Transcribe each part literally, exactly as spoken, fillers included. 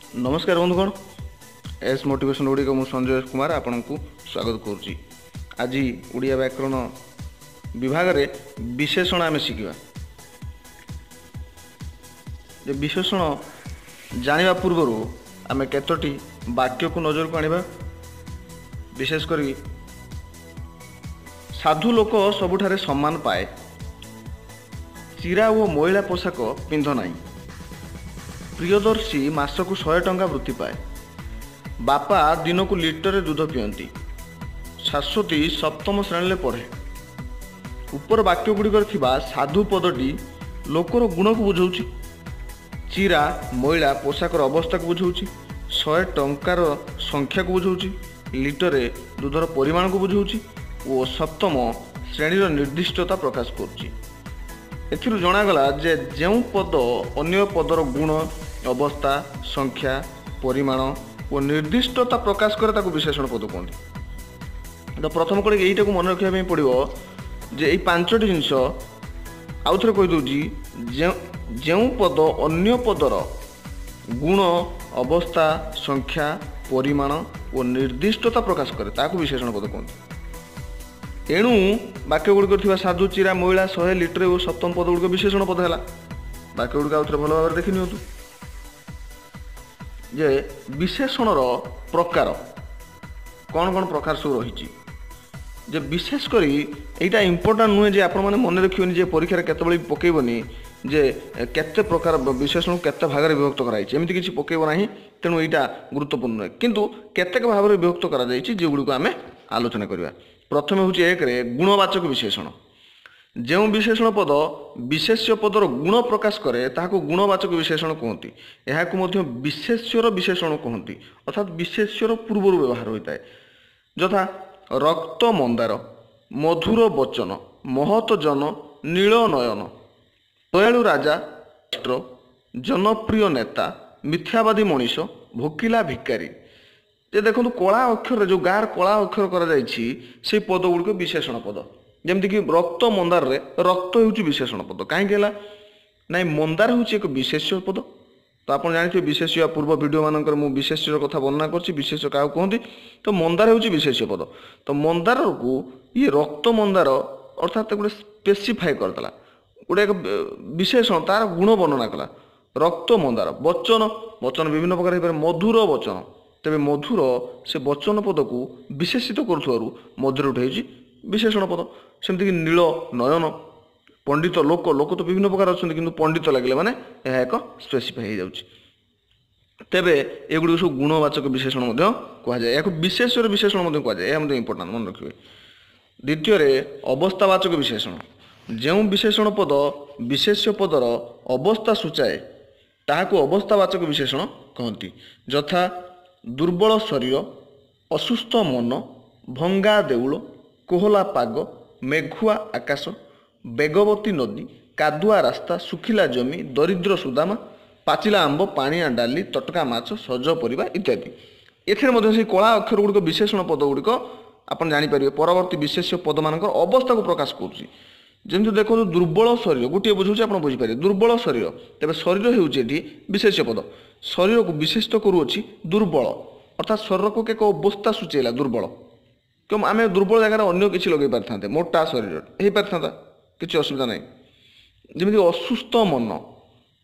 ନମସ୍କାର ବନ୍ଧୁଗଣ, S motivation ଗୁଡ଼ିକ ମୁଁ ସଞ୍ଜୟ କୁମାର ଆପଣଙ୍କୁ ସ୍ୱାଗତ କରୁଛି। ଆଜି ଓଡ଼ିଆ ବ୍ୟାକରଣ ବିଭାଗରେ ବିଶେଷଣ ଆମେ ଶିଖିବା। ଯେ ବିଶେଷଣ ଜାଣିବା ପୂର୍ବରୁ ଆମେ କେତୋଟି ବାକ୍ୟକୁ ନଜରକୁ ଆଣିବା। ବିଶେଷ କରି ସାଧୁ ଲୋକ ସବୁଠାରେ ସମ୍ମାନ ପାଏ, ଚିରା ଓ ମଇଳା ପୋଷାକ ପିନ୍ଧ ନାହିଁ, ପ୍ରିୟଦର୍ଶୀ ମାସକୁ ଶହେ ଟଙ୍କା ବୃତ୍ତି ପାଏ, ବାପା ଦିନକୁ ଲିଟରେ ଦୁଧ ପିଅନ୍ତି, ଶାଶ୍ୱତୀ ସପ୍ତମ ଶ୍ରେଣୀରେ ପଢ଼େ। ଉପର ବାକ୍ୟ ଗୁଡ଼ିକରେ ଥିବା ସାଧୁ ପଦଟି ଲୋକର ଗୁଣକୁ ବୁଝାଉଛି, ଚିରା ମଇଳା ପୋଷାକର ଅବସ୍ଥାକୁ ବୁଝାଉଛି, ଶହେ ଟଙ୍କାର ସଂଖ୍ୟାକୁ ବୁଝାଉଛି, ଲିଟରେ ଦୁଧର ପରିମାଣକୁ ବୁଝାଉଛି ଓ ସପ୍ତମ ଶ୍ରେଣୀର ନିର୍ଦ୍ଦିଷ୍ଟତା ପ୍ରକାଶ କରୁଛି। ଏଥିରୁ ଜଣାଗଲା ଯେ ଯେଉଁ ପଦ ଅନ୍ୟ ପଦର ଗୁଣ, ଅବସ୍ଥା, ସଂଖ୍ୟା, ପରିମାଣ ଓ ନିର୍ଦ୍ଦିଷ୍ଟତା ପ୍ରକାଶ କରେ ତାକୁ ବିଶେଷଣ ପଦ କୁହନ୍ତି। ତ ପ୍ରଥମ କରି ଏଇଟାକୁ ମନେ ରଖିବା ପାଇଁ ପଡ଼ିବ ଯେ ଏଇ ପାଞ୍ଚଟି ଜିନିଷ ଆଉଥରେ କହିଦେଉଛି, ଯେଉଁ ଯେଉଁ ପଦ ଅନ୍ୟ ପଦର ଗୁଣ, ଅବସ୍ଥା, ସଂଖ୍ୟା, ପରିମାଣ ଓ ନିର୍ଦ୍ଦିଷ୍ଟତା ପ୍ରକାଶ କରେ ତାହାକୁ ବିଶେଷଣ ପଦ କୁହନ୍ତି। ଏଣୁ ବାକ୍ୟ ଗୁଡ଼ିକରେ ଥିବା ସାଧୁ, ଚିରା, ମଇଳା, ଶହେ, ଲିଟର ଓ ସପ୍ତମ ପଦ ଗୁଡ଼ିକ ବିଶେଷଣ ପଦ ହେଲା। ବାକ୍ୟ ଗୁଡ଼ିକ ଆଉଥରେ ଭଲ ଭାବରେ ଦେଖି ନିଅନ୍ତୁ ଯେ ବିଶେଷଣର ପ୍ରକାର କ'ଣ କ'ଣ ପ୍ରକାର ସବୁ ରହିଛି। ଯେ ବିଶେଷ କରି ଏଇଟା ଇମ୍ପୋର୍ଟାଣ୍ଟ ନୁହେଁ ଯେ ଆପଣମାନେ ମନେ ରଖିବେନି ଯେ ପରୀକ୍ଷାରେ କେତେବେଳେ ବି ପକାଇବନି ଯେ କେତେ ପ୍ରକାର ବିଶେଷଣକୁ କେତେ ଭାଗରେ ବିଭକ୍ତ କରାଯାଇଛି, ଏମିତି କିଛି ପକାଇବ ନାହିଁ। ତେଣୁ ଏଇଟା ଗୁରୁତ୍ୱପୂର୍ଣ୍ଣ ନୁହେଁ, କିନ୍ତୁ କେତେକ ଭାବରେ ବିଭକ୍ତ କରାଯାଇଛି ଯେଉଁଗୁଡ଼ିକୁ ଆମେ ଆଲୋଚନା କରିବା। ପ୍ରଥମେ ହେଉଛି ଏକରେ ଗୁଣବାଚକ ବିଶେଷଣ। ଯେଉଁ ବିଶେଷଣ ପଦ ବିଶେଷ୍ୟ ପଦର ଗୁଣ ପ୍ରକାଶ କରେ ତାହାକୁ ଗୁଣବାଚକ ବିଶେଷଣ କୁହନ୍ତି। ଏହାକୁ ମଧ୍ୟ ବିଶେଷ୍ୟର ବିଶେଷଣ କୁହନ୍ତି, ଅର୍ଥାତ୍ ବିଶେଷ୍ୟର ପୂର୍ବରୁ ବ୍ୟବହାର ହୋଇଥାଏ। ଯଥା ରକ୍ତ ମନ୍ଦାର, ମଧୁର ବଚନ, ମହତ ଜନ, ନୀଳ ନୟନ, ଦୟାଳୁ ରାଜା, ଜନପ୍ରିୟ ନେତା, ମିଥ୍ୟାବାଦୀ ମଣିଷ, ଭୋକିଲା ଭିକାରୀ। ଯେ ଦେଖନ୍ତୁ କଳା ଅକ୍ଷରରେ ଯେଉଁ ଗାଁର କଳା ଅକ୍ଷର କରାଯାଇଛି ସେଇ ପଦ ଗୁଡ଼ିକ ବିଶେଷଣ ପଦ। ଯେମିତିକି ରକ୍ତ ମନ୍ଦାରରେ ରକ୍ତ ହେଉଛି ବିଶେଷଣ ପଦ। କାହିଁକି ହେଲା? ନାଇଁ, ମନ୍ଦାର ହେଉଛି ଏକ ବିଶେଷ୍ୟ ପଦ। ତ ଆପଣ ଜାଣିଥିବେ ବିଶେଷ୍ୟ, ପୂର୍ବ ଭିଡ଼ିଓ ମାନଙ୍କରେ ମୁଁ ବିଶେଷ୍ୟର କଥା ବର୍ଣ୍ଣନା କରିଛି, ବିଶେଷ୍ୟ କାହାକୁ କୁହନ୍ତି। ତ ମନ୍ଦାର ହେଉଛି ବିଶେଷ୍ୟ ପଦ। ତ ମନ୍ଦାରକୁ ଇଏ ରକ୍ତ ମନ୍ଦାର ଅର୍ଥାତ୍ ଗୋଟେ ସ୍ପେସିଫାଏ କରିଦେଲା, ଗୋଟେ ଏକ ବିଶେଷଣ, ତାର ଗୁଣ ବର୍ଣ୍ଣନା କଲା। ରକ୍ତ ମନ୍ଦାର, ବଚନ, ବଚନ ବିଭିନ୍ନ ପ୍ରକାର ହେଇପାରେ, ମଧୁର ବଚନ। ତେବେ ମଧୁର ସେ ବଚନ ପଦକୁ ବିଶେଷିତ କରୁଥିବାରୁ ମଧୁରଠୁ ହେଇଛି ବିଶେଷଣ ପଦ। ସେମିତିକି ନୀଳ ନୟନ, ପଣ୍ଡିତ ଲୋକ, ଲୋକ ତ ବିଭିନ୍ନ ପ୍ରକାର ଅଛନ୍ତି, କିନ୍ତୁ ପଣ୍ଡିତ ଲାଗିଲେ ମାନେ ଏହା ଏକ ସ୍ପେସିଫାଇ ହେଇଯାଉଛି। ତେବେ ଏଗୁଡ଼ିକ ସବୁ ଗୁଣବାଚକ ବିଶେଷଣ ମଧ୍ୟ କୁହାଯାଏ, ଏହାକୁ ବିଶେଷର ବିଶେଷଣ ମଧ୍ୟ କୁହାଯାଏ। ଏହା ମଧ୍ୟ ଇମ୍ପୋର୍ଟାଣ୍ଟ ମନେ ରଖିବେ। ଦ୍ୱିତୀୟରେ ଅବସ୍ଥାବାଚକ ବିଶେଷଣ। ଯେଉଁ ବିଶେଷଣ ପଦ ବିଶେଷ୍ୟ ପଦର ଅବସ୍ଥା ସୂଚାଏ ତାହାକୁ ଅବସ୍ଥାବାଚକ ବିଶେଷଣ କହନ୍ତି। ଯଥା ଦୁର୍ବଳ ଶରୀର, ଅସୁସ୍ଥ ମନ, ଭଙ୍ଗା ଦେଉଳ, କୋହଲା ପାଗ, ମେଘୁଆ ଆକାଶ, ବେଗବତୀ ନଦୀ, କାଦୁଆ ରାସ୍ତା, ଶୁଖିଲା ଜମି, ଦରିଦ୍ର ସୁଦାମା, ପାଚିଲା ଆମ୍ବ, ପାଣିଆ ଡାଲି, ତଟକା ମାଛ, ସଜ ପରିବା ଇତ୍ୟାଦି। ଏଥିରେ ମଧ୍ୟ ସେଇ କଳା ଅକ୍ଷର ଗୁଡ଼ିକ ବିଶେଷଣ ପଦ ଗୁଡ଼ିକ ଆପଣ ଜାଣିପାରିବେ ପରବର୍ତ୍ତୀ ବିଶେଷ୍ୟ ପଦମାନଙ୍କର ଅବସ୍ଥାକୁ ପ୍ରକାଶ କରୁଛି। ଯେମିତି ଦେଖନ୍ତୁ ଦୁର୍ବଳ ଶରୀର, ଗୋଟିଏ ବୁଝାଉଛି ଆପଣ ବୁଝିପାରିବେ। ଦୁର୍ବଳ ଶରୀର, ତେବେ ଶରୀର ହେଉଛି ଏଠି ବିଶେଷ୍ୟ ପଦ। ଶରୀରକୁ ବିଶେଷିତ କରୁଅଛି ଦୁର୍ବଳ, ଅର୍ଥାତ୍ ଶରୀରକୁ ଏକ ଅବସ୍ଥା ସୂଚେଇଲା ଦୁର୍ବଳ। କେଉଁ ଆମେ ଦୁର୍ବଳ ଜାଗାରେ ଅନ୍ୟ କିଛି ଲଗେଇ ପାରିଥାନ୍ତେ, ମୋଟା ଶରୀର ହେଇପାରିଥାନ୍ତା, କିଛି ଅସୁବିଧା ନାହିଁ। ଯେମିତି ଅସୁସ୍ଥ ମନ,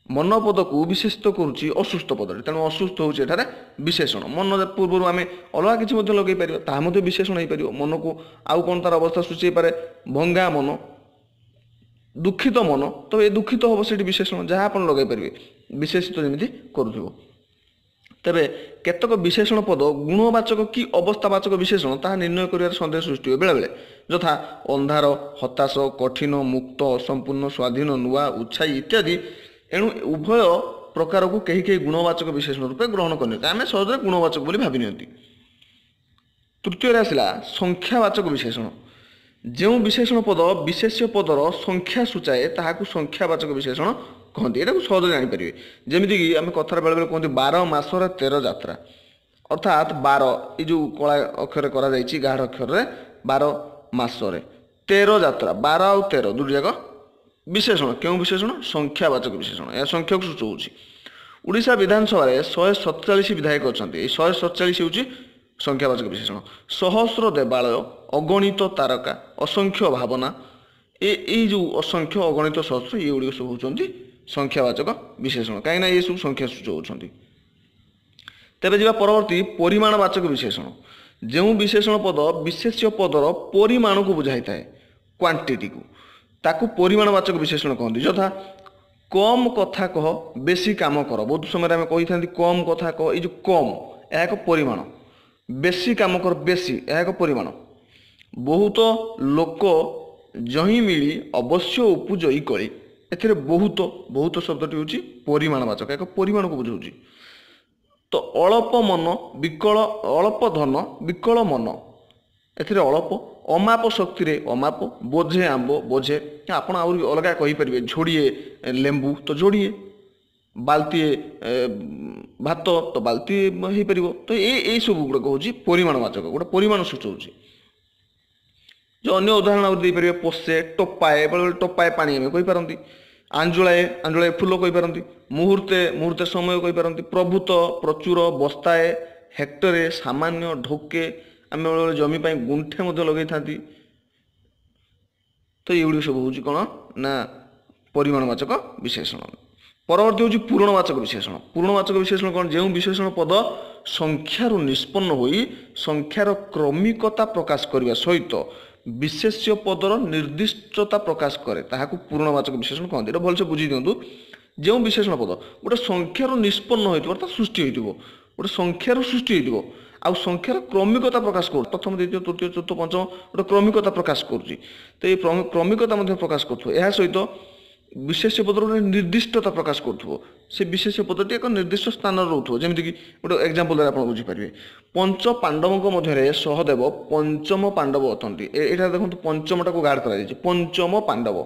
ମନ ପଦକୁ ବିଶେଷିତ କରୁଛି ଅସୁସ୍ଥ ପଦଟି, ତେଣୁ ଅସୁସ୍ଥ ହେଉଛି ଏଠାରେ ବିଶେଷଣ। ମନ ପୂର୍ବରୁ ଆମେ ଅଲଗା କିଛି ମଧ୍ୟ ଲଗେଇ ପାରିବା, ତାହା ମଧ୍ୟ ବିଶେଷଣ ହେଇପାରିବ। ମନକୁ ଆଉ କ'ଣ ତାର ଅବସ୍ଥା ସୂଚେଇ ପାରେ, ଭଙ୍ଗା ମନ, ଦୁଃଖିତ ମନ, ତ ଏ ଦୁଃଖିତ ହେବ ସେଠି ବିଶେଷଣ, ଯାହା ଆପଣ ଲଗାଇ ପାରିବେ ବିଶେଷିତ ଯେମିତି କରୁଥିବ। ତେବେ କେତେକ ବିଶେଷଣ ପଦ ଗୁଣବାଚକ କି ଅବସ୍ଥାବାଚକ ବିଶେଷଣ ତାହା ନିର୍ଣ୍ଣୟ କରିବାରେ ସନ୍ଦେହ ସୃଷ୍ଟି ହୁଏ ବେଳେବେଳେ। ଯଥା ଅନ୍ଧାର, ହତାଶ, କଠିନ, ମୁକ୍ତ, ଅସମ୍ପୂର୍ଣ୍ଣ, ସ୍ୱାଧୀନ, ନୂଆ, ଉତ୍ସାହୀ ଇତ୍ୟାଦି। ଏଣୁ ଉଭୟ ପ୍ରକାରକୁ କେହି କେହି ଗୁଣବାଚକ ବିଶେଷଣ ରୂପେ ଗ୍ରହଣ କରିନିଅନ୍ତି, ଆମେ ସହଜରେ ଗୁଣବାଚକ ବୋଲି ଭାବି ନିଅନ୍ତି। ତୃତୀୟରେ ଆସିଲା ସଂଖ୍ୟାବାଚକ ବିଶେଷଣ। ଯେଉଁ ବିଶେଷଣ ପଦ ବିଶେଷ୍ୟ ପଦର ସଂଖ୍ୟା ସୂଚାଏ ତାହାକୁ ସଂଖ୍ୟାବାଚକ ବିଶେଷଣ କହନ୍ତି। ଏଟାକୁ ସହଜରେ ଜାଣିପାରିବେ। ଯେମିତିକି ଆମେ କଥାରେ ବେଳେବେଳେ କୁହନ୍ତି ବାର ମାସରେ ତେର ଯାତ୍ରା, ଅର୍ଥାତ୍ ବାର ଏଇ ଯେଉଁ କଳା ଅକ୍ଷରରେ କରାଯାଇଛି ଗାଢ଼ ଅକ୍ଷରରେ ବାର ମାସରେ ତେର ଯାତ୍ରା, ବାର ଆଉ ତେର ଦୁଇଟି ଯାକ ବିଶେଷଣ। କେଉଁ ବିଶେଷଣ? ସଂଖ୍ୟାବାଚକ ବିଶେଷଣ, ଏହା ସଂଖ୍ୟାକୁ ସୂଚାଉଛି। ଓଡ଼ିଶା ବିଧାନସଭାରେ ଶହେ ସତଚାଳିଶ ବିଧାୟକ ଅଛନ୍ତି। ଏଇ ଶହେ ସତଚାଳିଶ ହେଉଛି ସଂଖ୍ୟାବାଚକ ବିଶେଷଣ। ସହସ୍ର ଦେବାଳୟ, ଅଗଣିତ ତାରକା, ଅସଂଖ୍ୟ ଭାବନା, ଏ ଏଇ ଯେଉଁ ଅସଂଖ୍ୟ, ଅଗଣିତ, ସହସ୍ର, ଏଗୁଡ଼ିକ ସବୁ ହେଉଛନ୍ତି ସଂଖ୍ୟାବାଚକ ବିଶେଷଣ, କାହିଁକିନା ଏ ସବୁ ସଂଖ୍ୟା ସୂଚଉଛନ୍ତି। ତେବେ ଯିବା ପରବର୍ତ୍ତୀ ପରିମାଣବାଚକ ବିଶେଷଣ। ଯେଉଁ ବିଶେଷଣ ପଦ ବିଶେଷ୍ୟ ପଦର ପରିମାଣକୁ ବୁଝାଇଥାଏ, କ୍ୱାଣ୍ଟିଟିକୁ, ତାକୁ ପରିମାଣବାଚକ ବିଶେଷଣ କହନ୍ତି। ଯଥା କମ୍ କଥା କହ, ବେଶୀ କାମ କର। ବହୁତ ସମୟରେ ଆମେ କହିଥାନ୍ତି କମ୍ କଥା କହ, ଏଇ ଯେଉଁ କମ୍ ଏହା ଏକ ପରିମାଣ। ବେଶୀ କାମ କର, ବେଶୀ ଏହା ଏକ ପରିମାଣ। ବହୁତ ଲୋକ ଯହିଁ ମିଳି ଅବଶ୍ୟ ଉପୁଜଇ କଳି, ଏଥିରେ ବହୁତ, ବହୁତ ଶବ୍ଦଟି ହେଉଛି ପରିମାଣବାଚକ, ଏକ ପରିମାଣକୁ ବୁଝାଉଛି। ତ ଅଳପ ମନ ବିକଳ, ଅଳପ ଧନ ବିକଳ ମନ, ଏଥିରେ ଅଳପ। ଅମାପ ଶକ୍ତିରେ ଅମାପ, ବୋଝେ ଆମ୍ବ ବୋଝେ, ଆପଣ ଆହୁରି ଅଲଗା କହିପାରିବେ, ଝୋଡ଼ିଏ ଲେମ୍ବୁ ତ ଯୋଡ଼ିଏ, ବାଲ୍ଟିଏ ଭାତ ତ ବାଲ୍ଟିଏ ହେଇପାରିବ। ତ ଏ ଏଇସବୁ ଗୁଡ଼ାକ ହେଉଛି ପରିମାଣବାଚକ, ଗୋଟେ ପରିମାଣ ସୂଚଉଛି। ଯେଉଁ ଅନ୍ୟ ଉଦାହରଣ ଆହୁରି ଦେଇପାରିବେ, ପୋଷେ, ଟୋପାଏ, ବେଳେବେଳେ ଟୋପାଏ ପାଣି ଆମେ କହିପାରନ୍ତି, ଆଞ୍ଜୁଳାଏ, ଆଞ୍ଜୁଳାଏ ଫୁଲ କହିପାରନ୍ତି, ମୁହୂର୍ତ୍ତେ, ମୁହୂର୍ତ୍ତେ ସମୟ କହିପାରନ୍ତି, ପ୍ରଭୂତ, ପ୍ରଚୁର, ବସ୍ତାଏ, ହେକ୍ଟରେ, ସାମାନ୍ୟ, ଢୋକେ, ଆମେ ବେଳେବେଳେ ଜମି ପାଇଁ ଗୁଣ୍ଠେ ମଧ୍ୟ ଲଗେଇଥାନ୍ତି। ତ ଏଗୁଡ଼ିକ ସବୁ ହେଉଛି କ'ଣ ନା ପରିମାଣବାଚକ ବିଶେଷଣ। ପରବର୍ତ୍ତୀ ହେଉଛି ପୂରଣବାଚକ ବିଶେଷଣ। ପୂରଣବାଚକ ବିଶେଷଣ କ'ଣ? ଯେଉଁ ବିଶେଷଣ ପଦ ସଂଖ୍ୟାରୁ ନିଷ୍ପନ୍ନ ହୋଇ ସଂଖ୍ୟାର କ୍ରମିକତା ପ୍ରକାଶ କରିବା ସହିତ ବିଶେଷ୍ୟ ପଦର ନିର୍ଦ୍ଦିଷ୍ଟତା ପ୍ରକାଶ କରେ, ତାହାକୁ ପୂରଣବାଚକ ବିଶେଷଣ କହନ୍ତି। ଏଇଟା ଭଲସେ ବୁଝି ଦିଅନ୍ତୁ। ଯେଉଁ ବିଶେଷଣ ପଦ ଗୋଟେ ସଂଖ୍ୟାରୁ ନିଷ୍ପନ୍ନ ହୋଇଥିବ, ଅର୍ଥାତ୍ ସୃଷ୍ଟି ହୋଇଥିବ, ଗୋଟେ ସଂଖ୍ୟାରୁ ସୃଷ୍ଟି ହୋଇଥିବ ଆଉ ସଂଖ୍ୟାର କ୍ରମିକତା ପ୍ରକାଶ କରୁଛି, ପ୍ରଥମ, ଦ୍ୱିତୀୟ, ତୃତୀୟ, ଚତୁର୍ଥ, ପଞ୍ଚମ, ଗୋଟେ କ୍ରମିକତା ପ୍ରକାଶ କରୁଛି, ତ ଏଇ କ୍ରମିକତା ମଧ୍ୟ ପ୍ରକାଶ କରୁଥିବ। ଏହା ସହିତ ବିଶେଷ୍ୟ ପଦର ଗୋଟେ ନିର୍ଦ୍ଦିଷ୍ଟତା ପ୍ରକାଶ କରୁଥିବ, ସେ ବିଶେଷ୍ୟ ପଦଟି ଏକ ନିର୍ଦ୍ଦିଷ୍ଟ ସ୍ଥାନରେ ରହୁଥିବ। ଯେମିତିକି ଗୋଟେ ଏକ୍ଜାମ୍ପଲ୍ ଦ୍ୱାରା ଆପଣ ବୁଝିପାରିବେ। ପଞ୍ଚ ପାଣ୍ଡବଙ୍କ ମଧ୍ୟରେ ସହଦେବ ପଞ୍ଚମ ପାଣ୍ଡବ ଅଟନ୍ତି। ଏଠାରେ ଦେଖନ୍ତୁ ପଞ୍ଚମଟାକୁ ଗାର୍ଡ଼ କରାଯାଇଛି, ପଞ୍ଚମ ପାଣ୍ଡବ।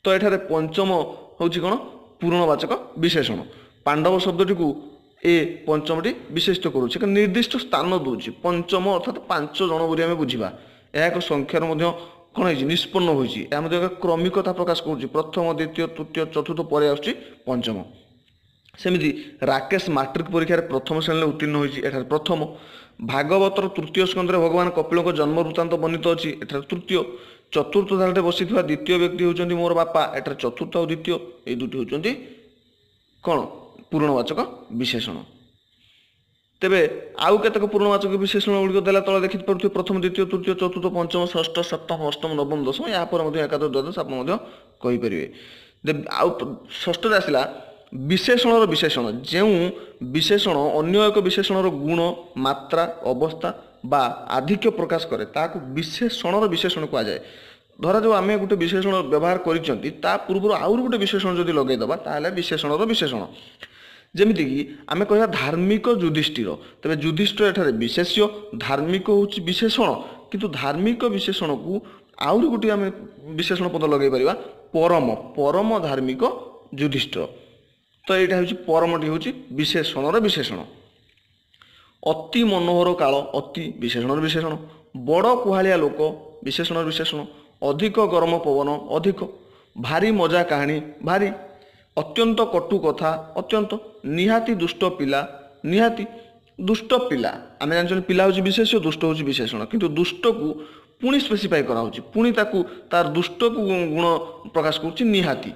ତ ଏଠାରେ ପଞ୍ଚମ ହେଉଛି କ'ଣ? ପୂରଣବାଚକ ବିଶେଷଣ। ପାଣ୍ଡବ ଶବ୍ଦଟିକୁ ଏ ପଞ୍ଚମଟି ବିଶେଷିତ କରୁଛି, ଏକ ନିର୍ଦ୍ଦିଷ୍ଟ ସ୍ଥାନ ଦେଉଛି। ପଞ୍ଚମ ଅର୍ଥାତ୍ ପାଞ୍ଚ ଜଣ ବୋଲି ଆମେ ବୁଝିବା। ଏହା ଏକ ସଂଖ୍ୟାର ମଧ୍ୟ କ'ଣ ହେଇଛି? ନିଷ୍ପନ୍ନ ହୋଇଛି। ଏହା ମଧ୍ୟ ଏକ କ୍ରମିକତା ପ୍ରକାଶ କରୁଛି, ପ୍ରଥମ, ଦ୍ୱିତୀୟ, ତୃତୀୟ, ଚତୁର୍ଥ ପରେ ଆସୁଛି ପଞ୍ଚମ। ସେମିତି ରାକେଶ ମାଟ୍ରିକ ପରୀକ୍ଷାରେ ପ୍ରଥମ ଶ୍ରେଣୀରେ ଉତ୍ତୀର୍ଣ୍ଣ ହୋଇଛି, ଏଠାରେ ପ୍ରଥମ। ଭାଗବତର ତୃତୀୟ ସ୍କନ୍ଧରେ ଭଗବାନ କପିଳଙ୍କ ଜନ୍ମ ବୃତ୍ତାନ୍ତ ବର୍ଣ୍ଣିତ ଅଛି, ଏଠାରେ ତୃତୀୟ। ଚତୁର୍ଥ ଧାରାରେ ବସିଥିବା ଦ୍ୱିତୀୟ ବ୍ୟକ୍ତି ହେଉଛନ୍ତି ମୋର ବାପା, ଏଠାରେ ଚତୁର୍ଥ ଆଉ ଦ୍ୱିତୀୟ ଏଇ ଦୁଇଟି ହେଉଛନ୍ତି କ'ଣ? ପୂରଣବାଚକ ବିଶେଷଣ। ତେବେ ଆଉ କେତେକ ପୂର୍ଣ୍ଣବାଚକ ବିଶେଷଣ ଗୁଡ଼ିକ ଦେଲା ତଳେ ଦେଖିପାରୁଥିବେ, ପ୍ରଥମ, ଦ୍ୱିତୀୟ, ତୃତୀୟ, ଚତୁର୍ଥ, ପଞ୍ଚମ, ଷଷ୍ଠ, ସପ୍ତମ, ଅଷ୍ଟମ, ନବମ, ଦଶମ, ଏହାପରେ ମଧ୍ୟ ଏକାଦଶ, ଦ୍ୱାଦଶ ଆପଣ ମଧ୍ୟ କହିପାରିବେ। ଆଉ ଷଷ୍ଠରେ ଆସିଲା ବିଶେଷଣର ବିଶେଷଣ। ଯେଉଁ ବିଶେଷଣ ଅନ୍ୟ ଏକ ବିଶେଷଣର ଗୁଣ, ମାତ୍ରା, ଅବସ୍ଥା ବା ଆଧିକ୍ୟ ପ୍ରକାଶ କରେ, ତାହାକୁ ବିଶେଷଣର ବିଶେଷଣ କୁହାଯାଏ। ଧରାଯାଉ ଆମେ ଗୋଟେ ବିଶେଷଣ ବ୍ୟବହାର କରିଛନ୍ତି, ତା ପୂର୍ବରୁ ଆହୁରି ଗୋଟେ ବିଶେଷଣ ଯଦି ଲଗେଇଦେବା, ତାହେଲେ ବିଶେଷଣର ବିଶେଷଣ। ଯେମିତିକି ଆମେ କହିବା ଧାର୍ମିକ ଯୁଧିଷ୍ଠିର। ତେବେ ଯୁଧିଷ୍ଠିର ଏଠାରେ ବିଶେଷ୍ୟ, ଧାର୍ମିକ ହେଉଛି ବିଶେଷଣ। କିନ୍ତୁ ଧାର୍ମିକ ବିଶେଷଣକୁ ଆହୁରି ଗୋଟିଏ ଆମେ ବିଶେଷଣ ପଦ ଲଗାଇ ପାରିବା, ପରମ, ପରମ ଧାର୍ମିକ ଯୁଧିଷ୍ଠିର। ତ ଏଇଟା ହେଉଛି ପରମଟି ହେଉଛି ବିଶେଷଣର ବିଶେଷଣ। ଅତି ମନୋହର କାଳ, ଅତି ବିଶେଷଣର ବିଶେଷଣ। ବଡ଼ କୁହାଳିଆ ଲୋକ, ବିଶେଷଣର ବିଶେଷଣ। ଅଧିକ ଗରମ ପବନ, ଅଧିକ। ଭାରି ମଜା କାହାଣୀ, ଭାରି। ଅତ୍ୟନ୍ତ କଟୁ କଥା, ଅତ୍ୟନ୍ତ। ନିହାତି ଦୁଷ୍ଟ ପିଲା, ନିହାତି। ଦୁଷ୍ଟ ପିଲା ଆମେ ଜାଣିଛନ୍ତି ପିଲା ହେଉଛି ବିଶେଷ୍ୟ, ଦୁଷ୍ଟ ହେଉଛି ବିଶେଷଣ। କିନ୍ତୁ ଦୁଷ୍ଟକୁ ପୁଣି ସ୍ପେସିଫାଇ କରାହେଉଛି, ପୁଣି ତାକୁ ତାର ଦୁଷ୍ଟକୁ ଗୁଣ ପ୍ରକାଶ କରୁଛି ନିହାତି।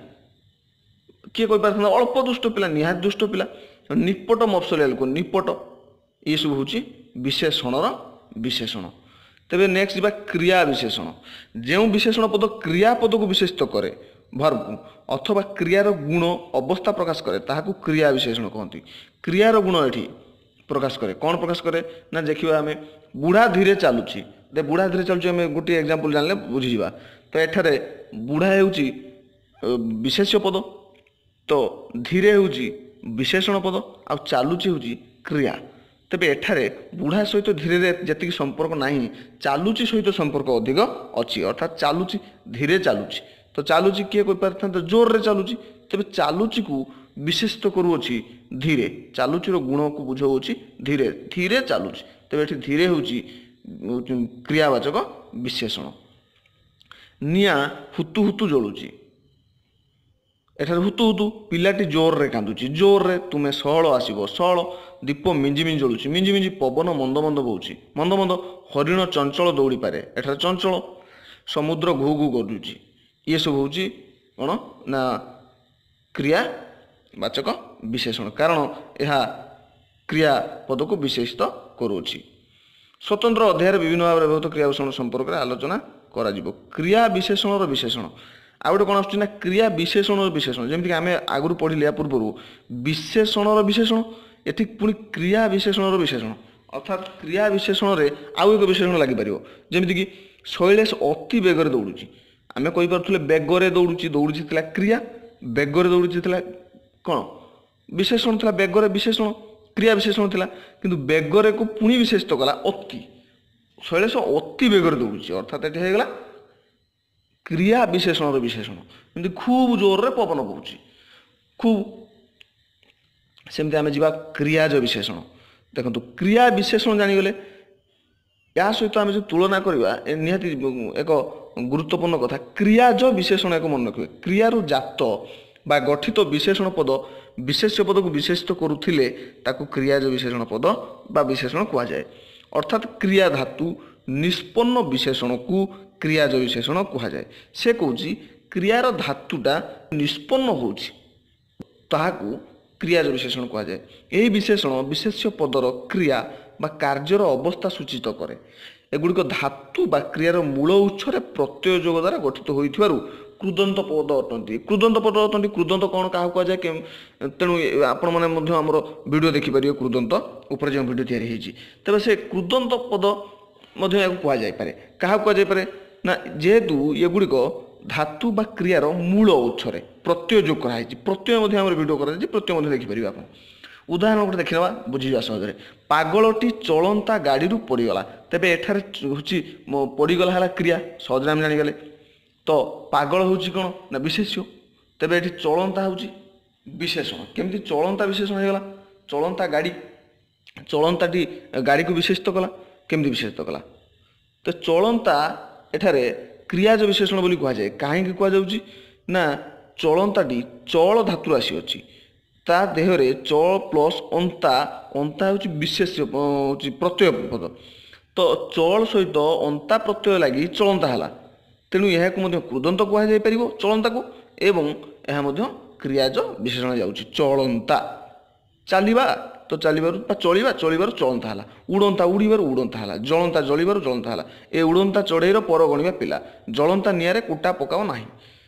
କିଏ କହିପାରିଥାନ୍ତା ଅଳ୍ପ ଦୁଷ୍ଟ ପିଲା, ନିହାତି ଦୁଷ୍ଟ ପିଲା। ନିପଟ ମଫସଲିଆ ଲୋକ, ନିପଟ। ଏସବୁ ହେଉଛି ବିଶେଷଣର ବିଶେଷଣ। ତେବେ ନେକ୍ସଟ ଯିବା କ୍ରିୟା ବିଶେଷଣ। ଯେଉଁ ବିଶେଷଣ ପଦ କ୍ରିୟାପଦକୁ ବିଶେଷିତ କରେ, ଭର୍ବକୁ, ଅଥବା କ୍ରିୟାର ଗୁଣ, ଅବସ୍ଥା ପ୍ରକାଶ କରେ, ତାହାକୁ କ୍ରିୟା ବିଶେଷଣ କହନ୍ତି। କ୍ରିୟାର ଗୁଣ ଏଠି ପ୍ରକାଶ କରେ, କ'ଣ ପ୍ରକାଶ କରେ ନା ଦେଖିବା ଆମେ, ବୁଢ଼ା ଧୀରେ ଚାଲୁଛି। ବୁଢ଼ା ଧୀରେ ଚାଲୁଛି ଆମେ ଗୋଟିଏ ଏକ୍ଜାମ୍ପଲ୍ ଜାଣିଲେ ବୁଝିଯିବା। ତ ଏଠାରେ ବୁଢ଼ା ହେଉଛି ବିଶେଷ୍ୟ ପଦ, ତ ଧୀରେ ହେଉଛି ବିଶେଷଣ ପଦ, ଆଉ ଚାଲୁଛି ହେଉଛି କ୍ରିୟା। ତେବେ ଏଠାରେ ବୁଢ଼ା ସହିତ ଧୀରେ ଯେତିକି ସମ୍ପର୍କ ନାହିଁ, ଚାଲୁଛି ସହିତ ସମ୍ପର୍କ ଅଧିକ ଅଛି। ଅର୍ଥାତ୍ ଚାଲୁଛି, ଧୀରେ ଚାଲୁଛି। ତ ଚାଲୁଛି କିଏ କହିପାରିଥାନ୍ତା ଜୋରରେ ଚାଲୁଛି। ତେବେ ଚାଲୁଚିକୁ ବିଶେଷିତ କରୁଅଛି ଧୀରେ, ଚାଲୁଚିର ଗୁଣକୁ ବୁଝାଉଅଛି ଧୀରେ, ଧୀରେ ଚାଲୁଛି। ତେବେ ଏଠି ଧୀରେ ହେଉଛି କ୍ରିୟାବାଚକ ବିଶେଷଣ। ନିଆଁ ହୁତୁ ହୁତୁ ଜଳୁଛି, ଏଠାରେ ହୁତୁ ହୁତୁ, ପିଲାଟି ଜୋରରେ କାନ୍ଦୁଛି ଜୋରରେ, ତୁମେ ସହଳ ଆସିବ ସହଳ, ଦୀପ ମିଞ୍ଜି ମିଞ୍ଜି ଜଳୁଛି ମିଞ୍ଜି ମିଞ୍ଜି, ପବନ ମନ୍ଦ ମନ୍ଦ ବହୁଛି ମନ୍ଦ ମନ୍ଦ, ହରିଣ ଚଞ୍ଚଳ ଦୌଡ଼ିପାରେ ଏଠାରେ ଚଞ୍ଚଳ, ସମୁଦ୍ର ଘୁ ଘୁ ଗର୍ଜୁଛି। ଇଏ ସବୁ ହେଉଛି କ'ଣ ନା କ୍ରିୟାବାଚକ ବିଶେଷଣ, କାରଣ ଏହା କ୍ରିୟା ପଦକୁ ବିଶେଷିତ କରୁଅଛି। ସ୍ୱତନ୍ତ୍ର ଅଧ୍ୟାୟରେ ବିଭିନ୍ନ ଭାବରେ ବ୍ୟବହୃତ କ୍ରିୟା ବିଶେଷଣ ସମ୍ପର୍କରେ ଆଲୋଚନା କରାଯିବ। କ୍ରିୟା ବିଶେଷଣର ବିଶେଷଣ ଆଉ ଗୋଟେ କ'ଣ ଆସୁଛି ନା କ୍ରିୟା ବିଶେଷଣର ବିଶେଷଣ। ଯେମିତିକି ଆମେ ଆଗରୁ ପଢ଼ିଲେ ୟା ପୂର୍ବରୁ ବିଶେଷଣର ବିଶେଷଣ, ଏଠି ପୁଣି କ୍ରିୟା ବିଶେଷଣର ବିଶେଷଣ, ଅର୍ଥାତ୍ କ୍ରିୟା ବିଶେଷଣରେ ଆଉ ଏକ ବିଶେଷଣ ଲାଗିପାରିବ। ଯେମିତିକି ଶୈଳେଶ ଅତି ବେଗରେ ଦୌଡ଼ୁଛି, ଆମେ କହିପାରୁଥିଲେ ବେଗରେ ଦୌଡ଼ୁଛି, ଦୌଡ଼ୁଛି ଥିଲା କ୍ରିୟା, ବେଗରେ ଦୌଡ଼ୁଛି ଥିଲା କ'ଣ ବିଶେଷଣ ଥିଲା, ବେଗରେ ବିଶେଷଣ କ୍ରିୟା ବିଶେଷଣ ଥିଲା, କିନ୍ତୁ ବେଗରେକୁ ପୁଣି ବିଶେଷିତ କଲା ଅତି, ଶୈଳେଶ ଅତି ବେଗରେ ଦୌଡ଼ୁଛି, ଅର୍ଥାତ୍ ଏଠି ହେଇଗଲା କ୍ରିୟା ବିଶେଷଣର ବିଶେଷଣ। ଏମିତି ଖୁବ୍ ଜୋରରେ ପବନ ବହୁଛି ଖୁବ୍, ସେମିତି ଆମେ ଯିବା କ୍ରିୟାଜ ବିଶେଷଣ। ଦେଖନ୍ତୁ କ୍ରିୟା ବିଶେଷଣ ଜାଣିଗଲେ, ଏହା ସହିତ ଆମେ ଯଦି ତୁଳନା କରିବା ଏ ନିହାତି ଏକ ଗୁରୁତ୍ୱପୂର୍ଣ୍ଣ କଥା। କ୍ରିୟାଜ ବିଶେଷଣ ଏକ ମନେ ରଖିବେ, କ୍ରିୟାରୁ ଜାତ ବା ଗଠିତ ବିଶେଷଣ ପଦ ବିଶେଷ୍ୟ ପଦକୁ ବିଶେଷିତ କରୁଥିଲେ ତାକୁ କ୍ରିୟାଜ ବିଶେଷଣ ପଦ ବା ବିଶେଷଣ କୁହାଯାଏ। ଅର୍ଥାତ୍ କ୍ରିୟା ଧାତୁ ନିଷ୍ପନ୍ନ ବିଶେଷଣକୁ କ୍ରିୟାଜ ବିଶେଷଣ କୁହାଯାଏ। ସେ କହୁଛି କ୍ରିୟାର ଧାତୁଟା ନିଷ୍ପନ୍ନ ହେଉଛି, ତାହାକୁ କ୍ରିୟାଜ ବିଶେଷଣ କୁହାଯାଏ। ଏହି ବିଶେଷଣ ବିଶେଷ୍ୟ ପଦର କ୍ରିୟା ବା କାର୍ଯ୍ୟର ଅବସ୍ଥା ସୂଚିତ କରେ। ଏଗୁଡ଼ିକ ଧାତୁ ବା କ୍ରିୟାର ମୂଳ ଉତ୍ସରେ ପ୍ରତ୍ୟୟ ଯୋଗ ଦ୍ୱାରା ଗଠିତ ହୋଇଥିବାରୁ କୃଦନ୍ତ ପଦ ଅଟନ୍ତି। କୃଦନ୍ତ ପଦ ଅଟନ୍ତି। କୃଦନ୍ତ କ'ଣ କାହାକୁ କୁହାଯାଏ, ତେଣୁ ଆପଣମାନେ ମଧ୍ୟ ଆମର ଭିଡ଼ିଓ ଦେଖିପାରିବେ କୃଦନ୍ତ ଉପରେ ଯେଉଁ ଭିଡ଼ିଓ ତିଆରି ହେଇଛି। ତେବେ ସେ କୃଦନ୍ତ ପଦ ମଧ୍ୟ ଏହାକୁ କୁହାଯାଇପାରେ। କାହାକୁ କୁହାଯାଇପାରେ ନା ଯେହେତୁ ଏଗୁଡ଼ିକ ଧାତୁ ବା କ୍ରିୟାର ମୂଳ ଉତ୍ସରେ ପ୍ରତ୍ୟୟ ଯୋଗ କରାହେଇଛି। ପ୍ରତ୍ୟୟ ମଧ୍ୟ ଆମର ଭିଡ଼ିଓ କରାଯାଇଛି, ପ୍ରତ୍ୟୟ ମଧ୍ୟ ଦେଖିପାରିବେ ଆପଣ। ଉଦାହରଣ ଗୋଟେ ଦେଖିନେବା ବୁଝିଯିବା ସହଜରେ। ପାଗଳଟି ଚଳନ୍ତା ଗାଡ଼ିରୁ ପଡ଼ିଗଲା, ତେବେ ଏଠାରେ ହେଉଛି ପଡ଼ିଗଲା ହେଲା କ୍ରିୟା, ସହଜରେ ଆମେ ଜାଣିଗଲେ। ତ ପାଗଳ ହେଉଛି କ'ଣ ନା ବିଶେଷ୍ୟ, ତେବେ ଏଠି ଚଳନ୍ତା ହେଉଛି ବିଶେଷଣ। କେମିତି ଚଳନ୍ତା ବିଶେଷଣ ହେଇଗଲା? ଚଳନ୍ତା ଗାଡ଼ି, ଚଳନ୍ତାଟି ଗାଡ଼ିକୁ ବିଶେଷିତ କଲା। କେମିତି ବିଶେଷିତ କଲା? ତ ଚଳନ୍ତା ଏଠାରେ କ୍ରିୟାଜ ବିଶେଷଣ ବୋଲି କୁହାଯାଏ। କାହିଁକି କୁହାଯାଉଛି ନା ଚଳନ୍ତାଟି ଚଳ ଧାତୁରୁ ଆସିଅଛି, ତା ଦେହରେ ଚଳ ପ୍ଲସ୍ ଅନ୍ତା, ଅନ୍ତା ହେଉଛି ବିଶେଷ ହେଉଛି ପ୍ରତ୍ୟୟ ପଦ, ତ ଚଳ ସହିତ ଅନ୍ତା ପ୍ରତ୍ୟୟ ଲାଗି ଚଳନ୍ତା ହେଲା। ତେଣୁ ଏହାକୁ ମଧ୍ୟ କୃଦନ୍ତ କୁହାଯାଇପାରିବ ଚଳନ୍ତାକୁ, ଏବଂ ଏହା ମଧ୍ୟ କ୍ରିୟାଜ ବିଶେଷଣ ଯାଉଛି। ଚଳନ୍ତା ଚାଲିବା, ତ ଚାଲିବାରୁ ବା ଚଳିବା, ଚଳିବାରୁ ଚଳନ୍ତା ହେଲା। ଉଡ଼ନ୍ତା ଉଡ଼ିବାରୁ ଉଡ଼ନ୍ତା ହେଲା। ଜଳନ୍ତା ଜଳିବାରୁ ଜଳନ୍ତା ହେଲା। ଏ ଉଡ଼ନ୍ତା ଚଢ଼େଇର ପର ଗଣିବା ପିଲା, ଜଳନ୍ତା ନିଆଁରେ କୁଟା ପକାଅ ନାହିଁ।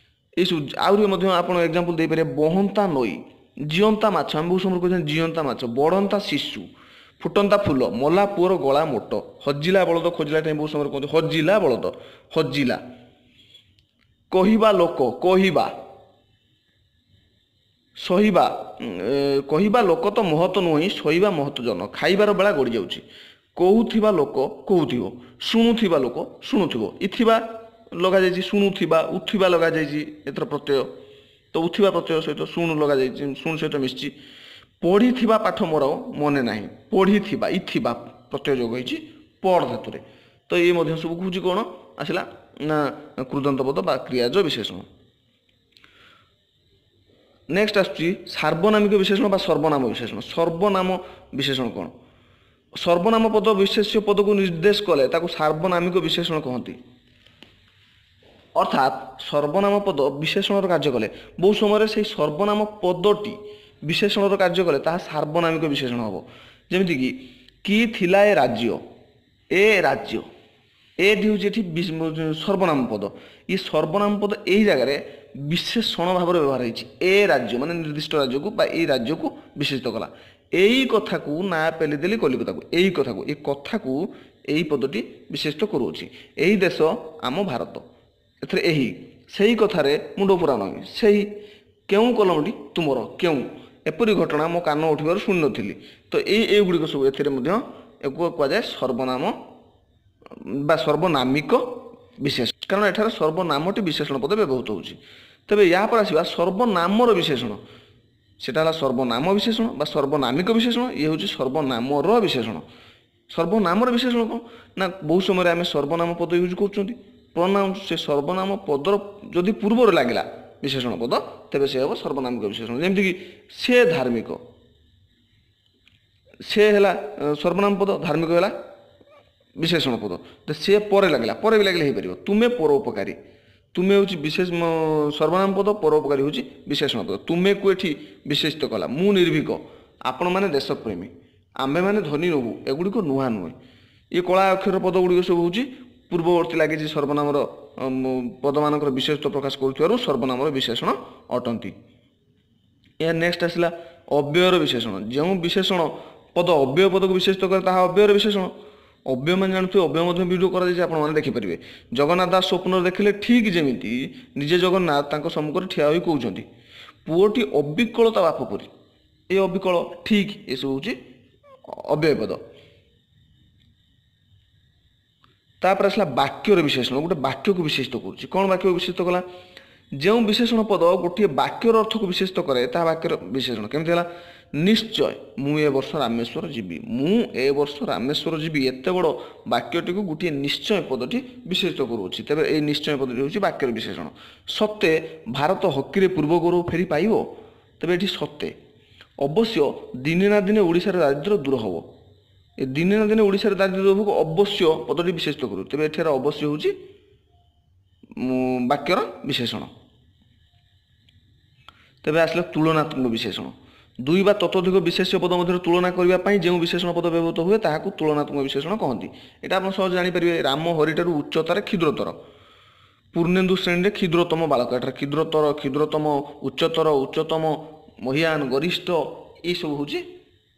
ଏସବୁ ଆହୁରି ମଧ୍ୟ ଆପଣ ଏକ୍ଜାମ୍ପଲ୍ ଦେଇପାରିବେ। ବହନ୍ତା ନଈ, ଜିଅନ୍ତା ମାଛ, ଆମେ ବହୁତ ସମୟ କହୁଛନ୍ତି ଜିଅନ୍ତା ମାଛ, ବଢ଼ନ୍ତା ଶିଶୁ, ଫୁଟନ୍ତା ଫୁଲ, ମଲା ପୁଅର ଗଳା ମୋଟ, ହଜିଲା ବଳଦ ଖୋଜିଲା ଟାଇମ୍ ବହୁତ ସମୟରେ କୁହନ୍ତି ହଜିଲା ବଳଦ, ହଜିଲା। କହିବା ଲୋକ କହିବା, ସହିବା, କହିବା ଲୋକ ତ ମହତ ନୁହେଁ, ସହିବା ମହତ ଜନ, ଖାଇବାର ବେଳା ଗଡ଼ି ଯାଉଛି। କହୁଥିବା ଲୋକ କହୁଥିବ, ଶୁଣୁଥିବା ଲୋକ ଶୁଣୁଥିବ। ଇଥିବା ଲଗାଯାଇଛି, ଶୁଣୁଥିବା, ଉଥିବା ଲଗାଯାଇଛି, ଏଥର ପ୍ରତ୍ୟୟ, ତ ଉଥିବା ପ୍ରତ୍ୟୟ ସହିତ ଶୁଣୁ ଲଗାଯାଇଛି, ଶୁଣୁ ସହିତ ମିଶିଛି। ପଢ଼ିଥିବା ପାଠ ମୋର ମନେ ନାହିଁ, ପଢ଼ିଥିବା ଇଥିବା ପ୍ରତ୍ୟୟ ଯୋଗ ହେଇଛି ପଢ଼ ଧାତୁରେ। ତ ଇଏ ମଧ୍ୟ ସବୁ କହୁଛି କ'ଣ ଆସିଲା ନା କୃଦନ୍ତ ପଦ ବା କ୍ରିୟାଜ ବିଶେଷଣ। ନେକ୍ସଟ ଆସୁଛି ସାର୍ବନାମିକ ବିଶେଷଣ ବା ସର୍ବନାମ ବିଶେଷଣ। ସର୍ବନାମ ବିଶେଷଣ କ'ଣ? ସର୍ବନାମ ପଦ ବିଶେଷ୍ୟ ପଦକୁ ନିର୍ଦ୍ଦେଶ କଲେ ତାକୁ ସାର୍ବନାମିକ ବିଶେଷଣ କହନ୍ତି। ଅର୍ଥାତ୍ ସର୍ବନାମ ପଦ ବିଶେଷଣର କାର୍ଯ୍ୟ କଲେ, ବହୁ ସମୟରେ ସେଇ ସର୍ବନାମ ପଦଟି ବିଶେଷଣର କାର୍ଯ୍ୟ କଲେ ତାହା ସାର୍ବନାମିକ ବିଶେଷଣ ହେବ। ଯେମିତିକି କି ଥିଲା ଏ ରାଜ୍ୟ, ଏ ରାଜ୍ୟ, ଏଟି ହେଉଛି ଏଠି ସର୍ବନାମ ପଦ। ଏ ସର୍ବନାମ ପଦ ଏଇ ଜାଗାରେ ବିଶେଷଣ ଭାବରେ ବ୍ୟବହାର ହେଇଛି। ଏ ରାଜ୍ୟ ମାନେ ନିର୍ଦ୍ଦିଷ୍ଟ ରାଜ୍ୟକୁ ବା ଏଇ ରାଜ୍ୟକୁ ବିଶେଷିତ କଲା। ଏଇ କଥାକୁ ନା ପେଲିଦେଲି କଲିକତାକୁ, ଏଇ କଥାକୁ, ଏ କଥାକୁ ଏଇ ପଦଟି ବିଶେଷିତ କରୁଅଛି। ଏହି ଦେଶ ଆମ ଭାରତ, ଏଥିରେ ଏହି, ସେଇ କଥାରେ ମୁଣ୍ଡ ପୁରା ନୁହେଁ, ସେଇ କେଉଁ କଲମଟି ତୁମର, କେଉଁ, ଏପରି ଘଟଣା ମୋ କାନ ଉଠିବାରୁ ଶୁଣିନଥିଲି। ତ ଏଇ ଏଇଗୁଡ଼ିକ ସବୁ ଏଥିରେ ମଧ୍ୟ ଏକୁ କୁହାଯାଏ ସର୍ବନାମ ବା ସର୍ବନାମିକ ବିଶେଷ, କାରଣ ଏଠାରେ ସର୍ବନାମଟି ବିଶେଷଣ ପଦ ବ୍ୟବହୃତ ହେଉଛି। ତେବେ ୟା ପରେ ଆସିବା ସର୍ବନାମର ବିଶେଷଣ। ସେଟା ହେଲା ସର୍ବନାମ ବିଶେଷଣ ବା ସର୍ବନାମିକ ବିଶେଷଣ, ଇଏ ହେଉଛି ସର୍ବନାମର ବିଶେଷଣ। ସର୍ବନାମର ବିଶେଷଣ କ'ଣ ନା ବହୁ ସମୟରେ ଆମେ ସର୍ବନାମ ପଦ ୟୁଜ୍ କରୁଛନ୍ତି, ପ୍ରନାଉନ୍, ସେ ସର୍ବନାମ ପଦର ଯଦି ପୂର୍ବରୁ ଲାଗିଲା ବିଶେଷଣ ପଦ, ତେବେ ସେ ହେବ ସର୍ବନାମିକ ବିଶେଷଣ। ଯେମିତିକି ସେ ଧାର୍ମିକ, ସେ ହେଲା ସର୍ବନାମ ପଦ, ଧାର୍ମିକ ହେଲା ବିଶେଷଣ ପଦ, ତ ସେ ପରେ ଲାଗିଲା, ପରେ ବି ଲାଗିଲେ ହେଇପାରିବ। ତୁମେ ପରୋପକାରୀ, ତୁମେ ହେଉଛି ବିଶେଷ ସର୍ବନାମ ପଦ, ପରୋପକାରୀ ହେଉଛି ବିଶେଷଣ ପଦ, ତୁମେକୁ ଏଠି ବିଶେଷିତ କଲା। ମୁଁ ନିର୍ଭୀକ, ଆପଣମାନେ ଦେଶପ୍ରେମୀ, ଆମ୍ଭେମାନେ ଧନୀ ନବୁ, ଏଗୁଡ଼ିକ ନୂଆ ନୁହେଁ। ଇଏ କଳା ଅକ୍ଷର ପଦ ଗୁଡ଼ିକ ସବୁ ହେଉଛି ପୂର୍ବବର୍ତ୍ତୀ ଲାଗିଛି ସର୍ବନାମର ପଦମାନଙ୍କର ବିଶେଷତ୍ୱ ପ୍ରକାଶ କରୁଥିବାରୁ ସର୍ବନାମର ବିଶେଷଣ ଅଟନ୍ତି। ଏହା ନେକ୍ସଟ ଆସିଲା ଅବ୍ୟୟର ବିଶେଷଣ। ଯେଉଁ ବିଶେଷଣ ପଦ ଅବ୍ୟୟ ପଦକୁ ବିଶେଷିତ କରେ ତାହା ଅବ୍ୟୟର ବିଶେଷଣ। ଅବ୍ୟୟ ମାନେ ଜାଣୁଥିବେ, ଅବ୍ୟୟ ମଧ୍ୟ ଭିଡ଼ିଓ କରାଯାଇଛି, ଆପଣମାନେ ଦେଖିପାରିବେ। ଜଗନ୍ନାଥ ଦାସ ସ୍ୱପ୍ନରେ ଦେଖିଲେ ଠିକ୍ ଯେମିତି ନିଜେ ଜଗନ୍ନାଥ ତାଙ୍କ ସମ୍ମୁଖରେ ଠିଆ ହୋଇ କହୁଛନ୍ତି, ପୁଅଟି ଅବିକଳ ତା ବାପ ପରି। ଏ ଅବିକଳ, ଠିକ୍, ଏସବୁ ହେଉଛି ଅବ୍ୟୟ ପଦ। ତାପରେ ଆସିଲା ବାକ୍ୟର ବିଶେଷଣ। ଗୋଟେ ବାକ୍ୟକୁ ବିଶେଷିତ କରୁଛି। କ'ଣ ବାକ୍ୟକୁ ବିଶେଷିତ କଲା? ଯେଉଁ ବିଶେଷଣ ପଦ ଗୋଟିଏ ବାକ୍ୟର ଅର୍ଥକୁ ବିଶେଷିତ କରେ ତାହା ବାକ୍ୟର ବିଶେଷଣ। କେମିତି ହେଲା? ନିଶ୍ଚୟ ମୁଁ ଏ ବର୍ଷ ରାମେଶ୍ୱର ଯିବି, ମୁଁ ଏ ବର୍ଷ ରାମେଶ୍ୱର ଯିବି, ଏତେ ବଡ଼ ବାକ୍ୟଟିକୁ ଗୋଟିଏ ନିଶ୍ଚୟ ପଦଟି ବିଶେଷିତ କରୁଅଛି, ତେବେ ଏଇ ନିଶ୍ଚୟ ପଦଟି ହେଉଛି ବାକ୍ୟର ବିଶେଷଣ। ସତେ ଭାରତ ହକିରେ ପୂର୍ବ ଗୌରବ ଫେରି ପାଇବ, ତେବେ ଏଠି ସତେ। ଅବଶ୍ୟ ଦିନେ ନା ଦିନେ ଓଡ଼ିଶାର ଦାରିଦ୍ର୍ୟ ଦୂର ହେବ, ଏ ଦିନେ ନା ଦିନେ ଓଡ଼ିଶାର ଦାରିଦ୍ର୍ୟ ଦୂର ହେବ, ଅବଶ୍ୟ ପଦଟି ବିଶେଷିତ କରୁ, ତେବେ ଏଠାରେ ଅବଶ୍ୟ ହେଉଛି ବାକ୍ୟର ବିଶେଷଣ। ତେବେ ଆସିଲା ତୁଳନାତ୍ମକ ବିଶେଷଣ। ଦୁଇ ବା ତତୋଧିକ ବିଶେଷ୍ୟ ପଦ ମଧ୍ୟରେ ତୁଳନା କରିବା ପାଇଁ ଯେଉଁ ବିଶେଷଣ ପଦ ବ୍ୟବହୃତ ହୁଏ ତାହାକୁ ତୁଳନାତ୍ମକ ବିଶେଷଣ କହନ୍ତି। ଏଇଟା ଆପଣ ସହଜ ଜାଣିପାରିବେ। ରାମ ହରିଠାରୁ ଉଚ୍ଚତାରେ କ୍ଷୁଦ୍ରତର, ପୂର୍ଣ୍ଣେନ୍ଦୁ ଶ୍ରେଣୀରେ କ୍ଷୁଦ୍ରତମ ବାଳକ, ଏଠାରେ କ୍ଷୁଦ୍ରତର, କ୍ଷୁଦ୍ରତମ, ଉଚ୍ଚତର, ଉଚ୍ଚତମ, ମହିୟାନ, ଗରିଷ୍ଠ, ଏଇସବୁ ହେଉଛି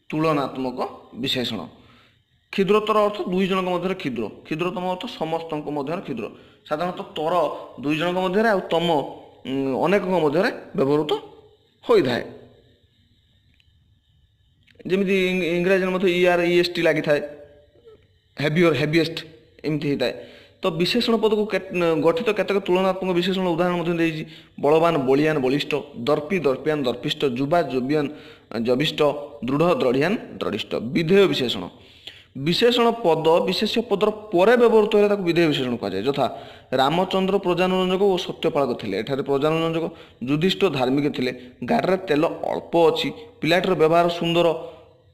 ତୁଳନାତ୍ମକ ବିଶେଷଣ। କ୍ଷୁଦ୍ରତର ଅର୍ଥ ଦୁଇ ଜଣଙ୍କ ମଧ୍ୟରେ କ୍ଷୁଦ୍ର, କ୍ଷୁଦ୍ରତମ ଅର୍ଥ ସମସ୍ତଙ୍କ ମଧ୍ୟରେ କ୍ଷୁଦ୍ର। ସାଧାରଣତଃ ତର ଦୁଇ ଜଣଙ୍କ ମଧ୍ୟରେ ଆଉ ତମ ଅନେକଙ୍କ ମଧ୍ୟରେ ବ୍ୟବହୃତ ହୋଇଥାଏ। ଯେମିତି ଇଂରାଜୀରେ ମଧ୍ୟ ଇ ଆର୍ ଇ ଏସ୍ ଟି ଲାଗିଥାଏ, ହେଭିଅର, ହେଭିଏଷ୍ଟ ଏମିତି ହେଇଥାଏ। ତ ବିଶେଷଣ ପଦକୁ ଗଠିତ କେତେକ ତୁଳନାତ୍ମକ ବିଶେଷଣ ଉଦାହରଣ ମଧ୍ୟ ଦେଇଛି। ବଳବାନ, ବଳିଆନ, ବଳିଷ୍ଠ, ଦର୍ପି, ଦର୍ପିଆନ, ଦର୍ପିଷ୍ଠ, ଯୁବା, ଯୁବିଆନ, ଯବିଷ୍ଠ, ଦୃଢ଼, ଦ୍ରଢ଼ିଆନ, ଦ୍ରଢ଼ିଷ୍ଠ। ବିଧେୟ ବିଶେଷଣ। ବିଶେଷଣ ପଦ ବିଶେଷ୍ୟ ପଦର ପରେ ବ୍ୟବହୃତ ହେଲେ ତାକୁ ବିଧେୟ ବିଶେଷଣ କୁହାଯାଏ। ଯଥା ରାମଚନ୍ଦ୍ର ପ୍ରଜାନୁରଞ୍ଜକ ଓ ସତ୍ୟପାଳକ ଥିଲେ, ଏଠାରେ ପ୍ରଜାନୁରଞ୍ଜକ। ଯୁଧିଷ୍ଠ ଧାର୍ମିକ ଥିଲେ, ଗାଡ଼ିରେ ତେଲ ଅଳ୍ପ ଅଛି, ପିଲାଟିର ବ୍ୟବହାର ସୁନ୍ଦର,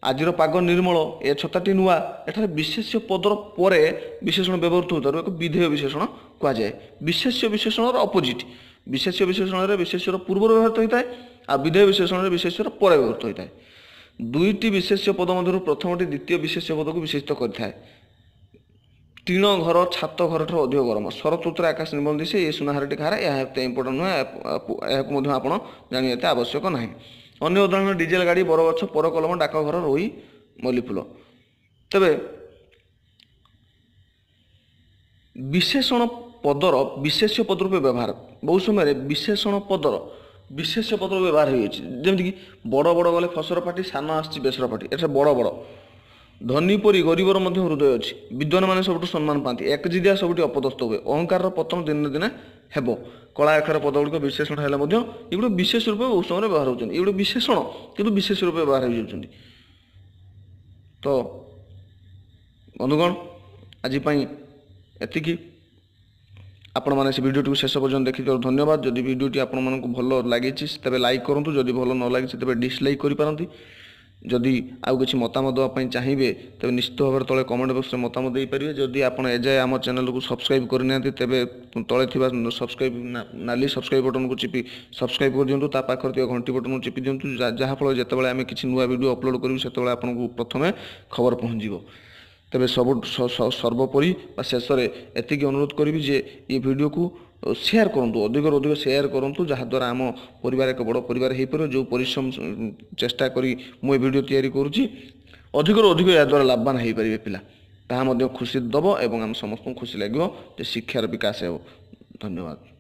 ଆଜିର ପାଗ ନିର୍ମଳ, ଏ ଛତାଟି ନୂଆ। ଏଠାରେ ବିଶେଷ୍ୟ ପଦର ପରେ ବିଶେଷଣ ବ୍ୟବହୃତ ହେଉଥିବାରୁ ଏକ ବିଧେୟ ବିଶେଷଣ କୁହାଯାଏ। ବିଶେଷ୍ୟ ବିଶେଷଣର ଅପୋଜିଟ୍, ବିଶେଷ୍ୟ ବିଶେଷଣରେ ବିଶେଷ୍ୟର ପୂର୍ବରୁ ବ୍ୟବହୃତ ହୋଇଥାଏ, ଆଉ ବିଧେୟ ବିଶେଷଣରେ ବିଶେଷ୍ୟର ପରେ ବ୍ୟବହୃତ ହୋଇଥାଏ। ଦୁଇଟି ବିଶେଷ୍ୟ ପଦ ମଧ୍ୟରୁ ପ୍ରଥମଟି ଦ୍ୱିତୀୟ ବିଶେଷ୍ୟ ପଦକୁ ବିଶେଷିତ କରିଥାଏ। ଟିଣ ଘର ଛାତ ଘରଠାରୁ ଅଧିକ ଗରମ, ଶରତ ଋତୁରେ ଆକାଶ ନିର୍ମଳ ଦିଶେ, ଏ ସୁନାହାରଟି କାହାର, ଏହା ଏତେ ଇମ୍ପୋର୍ଟାଣ୍ଟ ନୁହେଁ, ଏହାକୁ ମଧ୍ୟ ଆପଣ ଜାଣିବା ଏତେ ଆବଶ୍ୟକ ନାହିଁ। ଅନ୍ୟ ଉଦାହରଣ ଡିଜେଲ ଗାଡ଼ି, ବରଗଛ, ପରକଲମ, ଡାକଘର, ରୋହି, ମଲ୍ଲିଫୁଲ। ତେବେ ବିଶେଷଣ ପଦର ବିଶେଷ୍ୟ ପଦ ରୂପେ ବ୍ୟବହାର, ବହୁ ସମୟରେ ବିଶେଷଣ ପଦର ବିଶେଷ୍ୟ ପଦ ବ୍ୟବହାର ହୋଇଅଛି। ଯେମିତିକି ବଡ଼ ବଡ଼ ଗଲେ ଫସର ପାଟି, ସାନ ଆସିଛି ବେସର ପାଟି, ଏଠାରେ ବଡ଼ ବଡ଼। ଧନୀ ପରି ଗରିବର ମଧ୍ୟ ହୃଦୟ ଅଛି, ବିଦ୍ୱାନମାନେ ସବୁଠୁ ସମ୍ମାନ ପାଆନ୍ତି, ଏକଜିଦିଆ ସବୁଠି ଅପଦସ୍ଥ ହୁଏ, ଅହଙ୍କାରର ପତନ ଦିନେ ଦିନେ ହେବ। କଳା ଅକ୍ଷର ପଦ ଗୁଡ଼ିକ ବିଶେଷଣ ହେଲେ ମଧ୍ୟ ଏଗୁଡ଼ିକ ବିଶେଷ ରୂପେ ବହୁ ସମୟରେ ବ୍ୟବହାର ହେଉଛନ୍ତି। ଏଗୁଡ଼ିକ ବିଶେଷଣ କିନ୍ତୁ ବିଶେଷ ରୂପେ ବ୍ୟବହାର ହୋଇଯାଉଛନ୍ତି। ତ ବନ୍ଧୁଗଣ, ଆଜି ପାଇଁ ଏତିକି। ଆପଣମାନେ ସେ ଭିଡ଼ିଓଟିକୁ ଶେଷ ପର୍ଯ୍ୟନ୍ତ ଦେଖିଥିବାରୁ ଧନ୍ୟବାଦ। ଯଦି ଭିଡ଼ିଓଟି ଆପଣମାନଙ୍କୁ ଭଲ ଲାଗିଛି ତେବେ ଲାଇକ୍ କରନ୍ତୁ, ଯଦି ଭଲ ନ ଲାଗିଛି ତେବେ ଡିସଲାଇକ୍ କରିପାରନ୍ତି। ଯଦି ଆଉ କିଛି ମତାମତ ଦେବା ପାଇଁ ଚାହିଁବେ ତେବେ ନିଶ୍ଚିତ ଭାବରେ ତଳେ କମେଣ୍ଟ ବକ୍ସରେ ମତାମତ ଦେଇପାରିବେ। ଯଦି ଆପଣ ଏଯାଏ ଆମ ଚ୍ୟାନେଲକୁ ସବସ୍କ୍ରାଇବ୍ କରିନାହାନ୍ତି ତେବେ ତଳେ ଥିବା ସବସ୍କ୍ରାଇବ୍ ନାଲି ସବସ୍କ୍ରାଇବ୍ ବଟନକୁ ଚିପି ସବସ୍କ୍ରାଇବ୍ କରିଦିଅନ୍ତୁ, ତା ପାଖରେ ଥିବା ଘଣ୍ଟି ବଟନକୁ ଚିପି ଦିଅନ୍ତୁ, ଯାହାଫଳରେ ଯେତେବେଳେ ଆମେ କିଛି ନୂଆ ଭିଡ଼ିଓ ଅପଲୋଡ଼ କରିବୁ ସେତେବେଳେ ଆପଣଙ୍କୁ ପ୍ରଥମେ ଖବର ପହଞ୍ଚିବ। ତେବେ ସବୁ ସର୍ବୋପରି ବା ଶେଷରେ ଏତିକି ଅନୁରୋଧ କରିବି ଯେ ଏ ଭିଡ଼ିଓକୁ ସେୟାର କରନ୍ତୁ, ଅଧିକରୁ ଅଧିକ ସେୟାର କରନ୍ତୁ, ଯାହାଦ୍ୱାରା ଆମ ପରିବାର ଏକ ବଡ଼ ପରିବାର ହୋଇପାରିବ। ଯେଉଁ ପରିଶ୍ରମ ଚେଷ୍ଟା କରି ମୁଁ ଏ ଭିଡ଼ିଓ ତିଆରି କରୁଛି, ଅଧିକରୁ ଅଧିକ ଏହାଦ୍ୱାରା ଲାଭବାନ ହୋଇପାରିବେ ପିଲା, ତାହା ମଧ୍ୟ ଖୁସି ଦେବ ଏବଂ ଆମ ସମସ୍ତଙ୍କୁ ଖୁସି ଲାଗିବ ଯେ ଶିକ୍ଷାର ବିକାଶ ହେବ। ଧନ୍ୟବାଦ।